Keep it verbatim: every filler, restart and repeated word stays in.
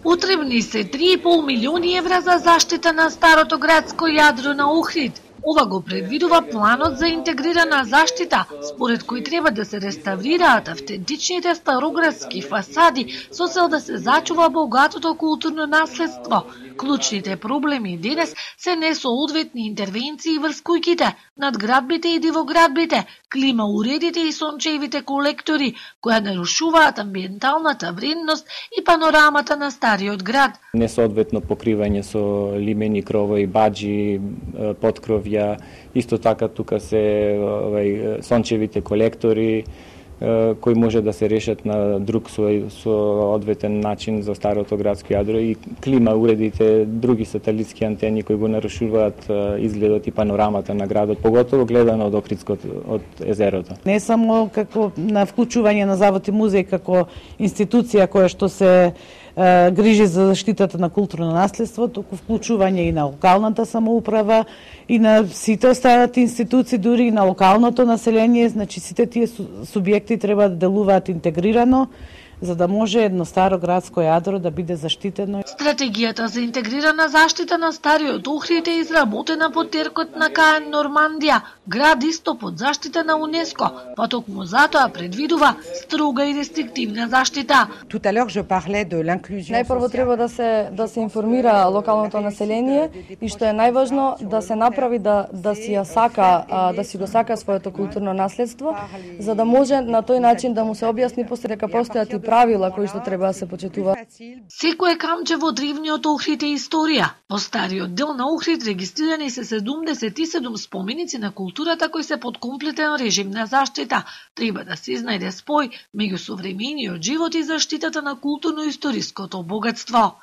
Потребни се три и пол милиони евра за заштита на старото градско јадро на Охрид. Ова го предвидува планот за интегрирана заштита, според кој треба да се реставрираат автентичните староградски фасади со цел да се зачува богатото културно наследство. Клучните проблеми денес се несоодветни интервенции врз куќите, надградбите и дивоградбите, клима уредите и сончевите колектори, кои нарушуваат амбиенталната вредност и панорамата на стариот град. Несоодветно покривање со лимени кровови, баџи, подкровја, исто така тука се овај сончевите колектори кои може да се решат на друг соодветен начин за старото градско јадро и клима уредите, други сателитски антени кои го нарушуваат изгледот и панорамата на градот, поготово гледано од Охридското од езерото. Не само како на вклучување на Завод и музеј како институција која што се е, грижи за заштитата на културно наследство, туку вклучување и на локалната самоуправа и на сите останати институции, дури и на локалното население, значи сите тие субјекти треба да делуваат интегрирано, за да може едно старо градско јадро да биде заштитено. Стратегијата за интегрирана заштита на стариот Охрид е изработена под теркот на КАЕН Нормандија, град исто под заштита на УНЕСКО, па токму затоа предвидува строга и рестриктивна заштита. Најпрво треба да се да се информира локалното население и што е најважно да се направи да да си ја сака да си го сака своето културно наследство, за да може на тој начин да му се објасни после дека постојат и правила кои што треба да се почитуваат. Секое камче во древниот Охрид е историја. По стариот дел на Охрид регистрирани се седумдесет и седум споменици на културата кои се под комплетен режим на заштита. Треба да се изнајде спој меѓу современиот живот и заштитата на културно-историското богатство.